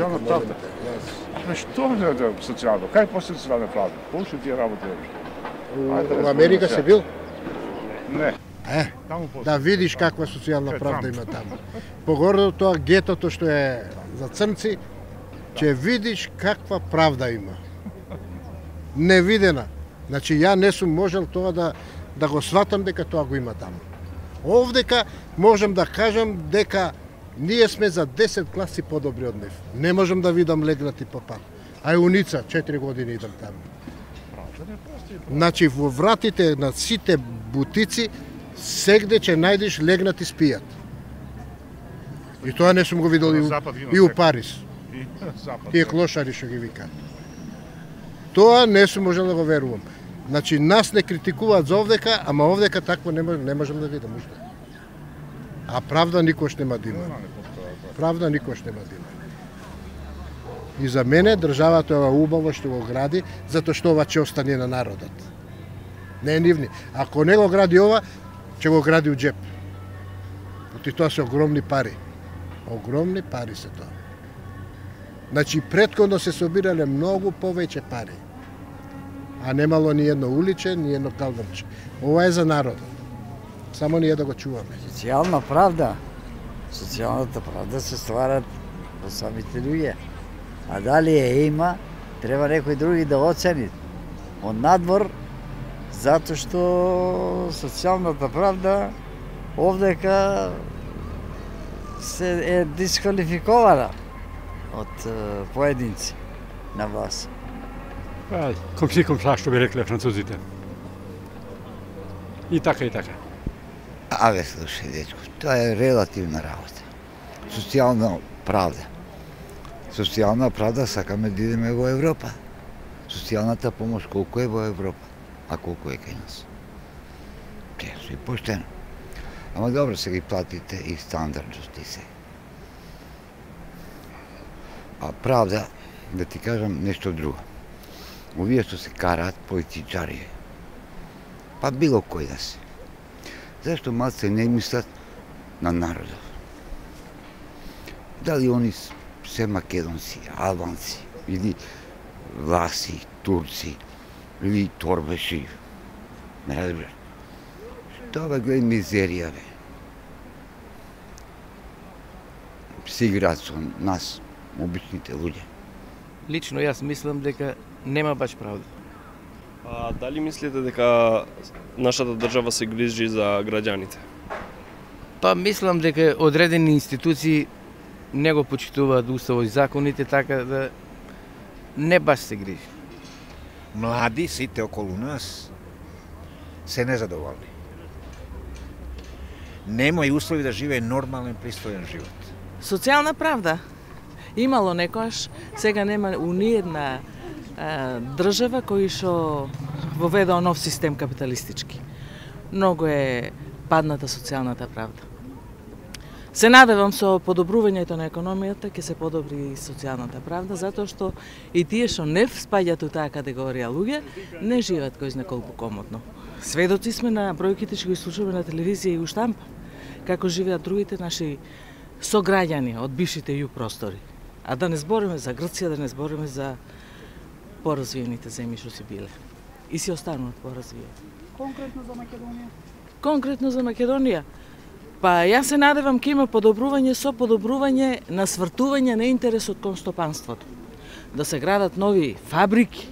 Социјална правда. Што е социјално? Кај после социјална правда? Пошли тие работи У Америка се бил? Не. Да видиш каква социјална правда има таму. Погоре тоа гетото што е за црнци, ќе видиш каква правда има. Невидена. Значи ја не сум можел тоа да го сватам дека тоа го има таму. Овдека можам да кажам дека ние сме за 10 класи подобри од нив. Не можам да видам легнати по пат. А уница 4 години идам таму. Значи во вратите на сите бутици сегде ќе најдеш легнати спијат. И тоа не сум го видел и у Париз. Тие клошари што ги викаат. Тоа не сум можел да го верувам. Значи нас не критикуваат за овдека, ама овдека такво не можам да видам уште. А правда никош нема да има. Правда никош нема да има. И за мене државата е убаво што го гради, затоа што ова ќе остане на народот. Не е нивни. Ако не го гради ова, ќе го гради у джеп. Оти тоа се огромни пари. Огромни пари се тоа. Значи претходно се собирале многу повеќе пари. А немало ни едно уличе, ни едно калдърче. Ова е за народот. Само ние да го чуваме. Социјална правда. Социјалната правда се ствара во самите луѓе. А дали ја има, треба некој други да оцени. Од надвор, затоа што социјалната правда овдека се е дисквалификована од поединци на вас. Ком си ком са, што би рекле французите. И така, и така. Аве, слушај, дечко, тоа е релативна работа. Социјална правда. Социјална правда сакаме да идеме во Европа. Социјалната помош колку е во Европа, а колку е кај нас. Често и поштено. Ама добро се ги платите и стандардности се. А правда, да ти кажам нешто друго. Овие што се караат политичари, па било кој да се. Зашто малце не мислат на народот? Дали они се македонци, албанци, или власи, турци, или торбеши? Не разбират. Што бе гледа мизерија, бе? Се играат со нас, обичните луѓе. Лично јас мислам дека нема баш правда. А дали мислите дека нашата држава се грижи за граѓаните? Па мислам дека одредени институции не го почитуваат уставот и законите, така да не баш се грижи. Млади сите околу нас се незадоволни. Нема и услови да живее нормален, пристоен живот. Социјална правда имало некојаш, сега нема у ниедна држава кој што воведува нов систем капиталистички. Многу е падната социјалната правда. Се надевам со подобрувањето на економијата ќе се подобри и социјалната правда, затоа што и тие што не спаѓаат у таа категорија луѓе не живеат кој знае колку комодно. Сведоци сме на бројките што ги слушаме на телевизија и у штампа, како живеат другите наши сограѓани од бившите југ простори. А да не збориме за Грција, да не збориме за поразвиените земји што си биле. И си остануваат поразвиени. Конкретно за Македонија? Конкретно за Македонија? Па јас се надевам ќе има подобрување со подобрување на свртување на интересот кон стопанството. Да се градат нови фабрики,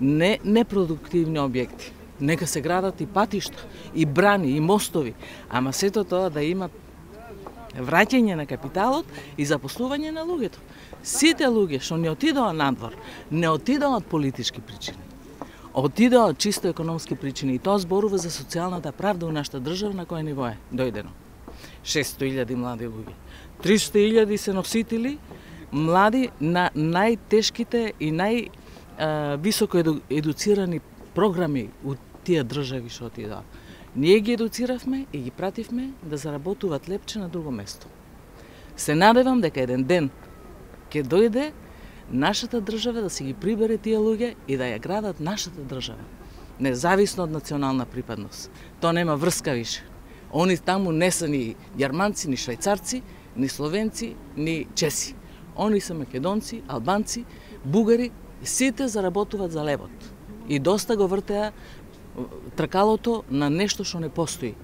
не непродуктивни објекти. Нека се градат и патишта, и брани, и мостови, ама сето тоа да има враќање на капиталот и запослување на луѓето. Сите луѓе што не отидоа надвор, не отидоа од политички причини. Отидоа од чисто економски причини и тоа зборува за социјалната правда у нашата држава на кој ниво е дојдено. 600.000 млади луѓе. 300.000 се носители млади на најтешките и највисоко едуцирани програми у тие држави што отидоа. Ние ги едуциравме и ги пративме да заработуваат лепче на друго место. Се надевам дека еден ден ќе дојде нашата држава да си ги прибере тие луѓе и да ја градат нашата држава, независно од национална припадност. Тоа нема врска више. Они таму не се ни јарманци, ни швајцарци, ни словенци, ни чеси. Они се македонци, албанци, бугари, сите заработуваат за левот. И доста го вртеа тркалото на нешто што не постои.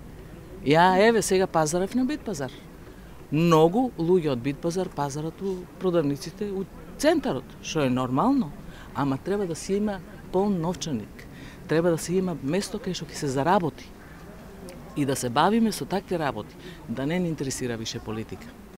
Еве сега пазарев на Битпазар. Многу луѓе од Битпазар пазарат у продавниците у центарот, што е нормално, ама треба да се има полн новчаник. Треба да се има место кај што ќе се заработи и да се бавиме со такви работи, да не ни интересира више политика.